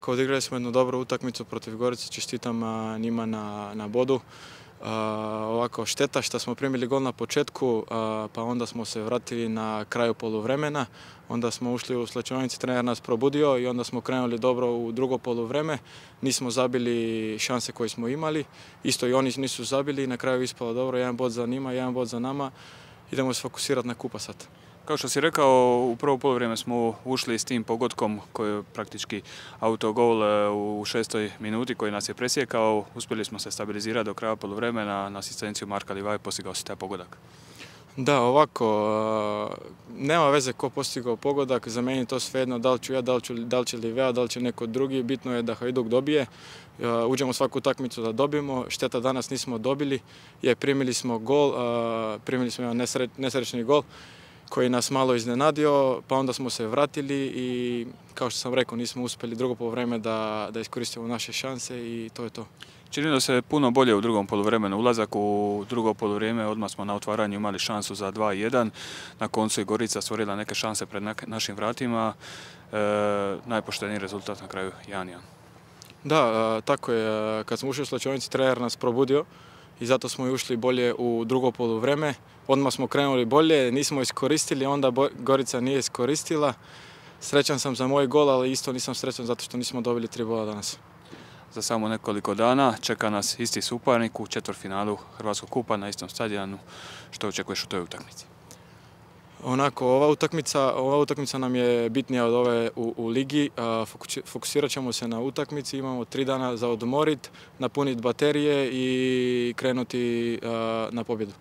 Odigrali smo jednu dobru utakmicu protiv Gorice, čestitam njima na bodu. Ovako, šteta što smo primili gol na početku, pa onda smo se vratili na kraju poluvremena. Onda smo ušli u slačionici, trener nas probudio i onda smo krenuli dobro u drugo poluvreme. Nismo zabili šanse koje smo imali, isto i oni nisu zabili i na kraju ispalo dobro, jedan bod za njima, jedan bod za nama. Idemo se fokusirati na kupa sad. Kao što si rekao, u prvo poluvreme smo ušli s tim pogodkom koji je praktički autogol u 6. minuti koji nas je presjekao. Uspjeli smo se stabilizirati do kraja poluvremena, na asistenciju Marka Livaje postigao si taj pogodak. Da, ovako, nema veze ko postigao pogodak, za meni to svejedno, da li ću ja, da li će Livea, da li će neko drugi, bitno je da Hajduk dobije. Uđemo svaku utakmicu da dobijemo, šteta danas nismo dobili, primili smo gol, primili smo jedan nesrećni gol koji nas malo iznenadio, pa onda smo se vratili i kao što sam rekao nismo uspjeli drugo poluvreme da iskoristimo naše šanse i to je to. Činilo se puno bolje u drugom poluvremenu. Ulazak u drugo poluvrijeme, odmah smo na otvaranju imali šansu za 2-1. Na koncu je Gorica stvorila neke šanse pred našim vratima. Najpošteniji rezultat na kraju 1-1. Da, tako je. Kad smo ušli u slačionici, trener nas probudio i zato smo i ušli bolje u drugo poluvreme. Odmah smo krenuli bolje, nismo iskoristili, onda Gorica nije iskoristila. Srećan sam za moj gol, ali isto nisam srećan zato što nismo dobili 3 boda danas. Za samo nekoliko dana čeka nas isti suparnik u četvrtfinalu Hrvatskog kupa na istom stadionu. Što očekuješ u toj utakmici? Onako, ova utakmica nam je bitnija od ove u ligi. Fokusirat ćemo se na utakmici, imamo 3 dana za odmorit, napuniti baterije i krenuti na pobjedu.